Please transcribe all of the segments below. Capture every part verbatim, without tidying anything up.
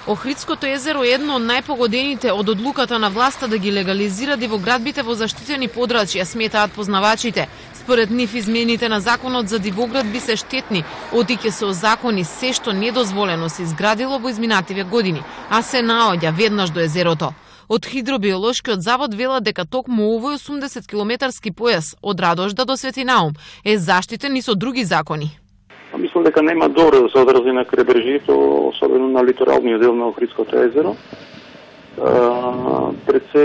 Охридското езеро е едно од најпогодените од одлуката на власта да ги легализира дивоградбите во заштитени подрачја, сметаат познавачите. Според нив измените на законот за дивоградби се штетни, оти ќе се озакони се што недозволено се изградило во изминативе години, а се наоѓа веднаш до езерото. Од Хидробиолошкиот завод велат дека токму овој осумдесет километарски појас од Радожда до Светинаум е заштитен и со други закони. Мислам дека нема добро да се одрази на крайбрежјето, особено на литоралниот дел на Охридското езеро. Пред се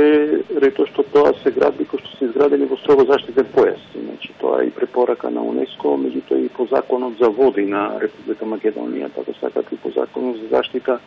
рето што тоа се градби кои што се изградени во строго заштитен појас. Значи тоа е и препорака на УНЕСКО, меѓутоа и по законот за води на Република Македонија, така сакат и по законот за заштита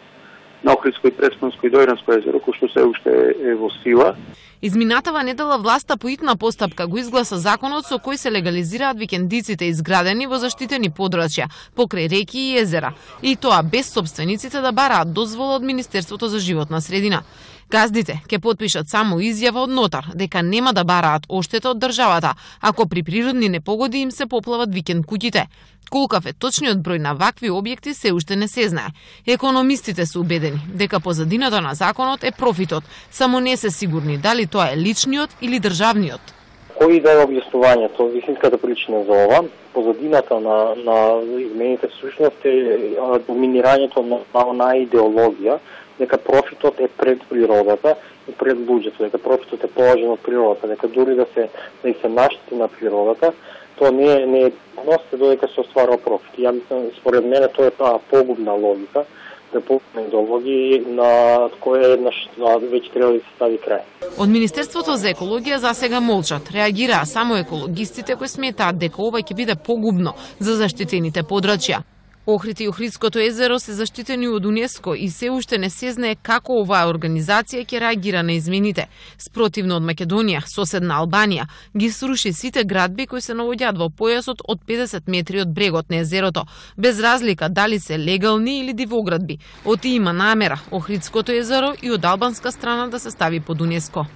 на Охридско и Преспанско и Дојранско езеро, кој што се уште е во сила. Изминатава недела власта по итна постапка го изгласа законот со кој се легализираат викендиците изградени во заштитени подрачја, покрај реки и езера, и тоа без собствениците да бараат дозвола од Министерството за животна средина. Газдите ќе потпишат само изјава од нотар дека нема да бараат оштета од државата ако при природни непогоди им се поплават викенд куќите. Колкав е точниот број на вакви објекти се уште не се знае. Економистите се убедени дека позадината на законот е профитот, само не се сигурни дали тоа е личниот или државниот. Кој да е објаснувањето, вистинската причина за ова, позадината на, на измените всушност е доминирањето на, на, на идеологија, дека профитот е пред природата и пред луѓето, дека профитот е положен од природата, дека дури да се да се наштети на природата, тоа не е не е ност додека се остварува профит. Ја мислам, според мене тоа е таа погубна логика, да погубна идеологија на која еднаш веќе треба да се стави крај. Од Министерството за екологија засега молчат. Реагираа само екологистите кои сметаат дека ова ќе биде погубно за заштитените подрачја. Охрид и Охридското езеро се заштитени од УНЕСКО и се уште не се знае како оваа организација ќе реагира на измените. Спротивно од Македонија, соседна Албанија, ги сруши сите градби кои се наоѓаат во појасот од педесет метри од брегот на езерото, без разлика дали се легални или дивоградби. Оти има намера Охридското езеро и од албанска страна да се стави под УНЕСКО.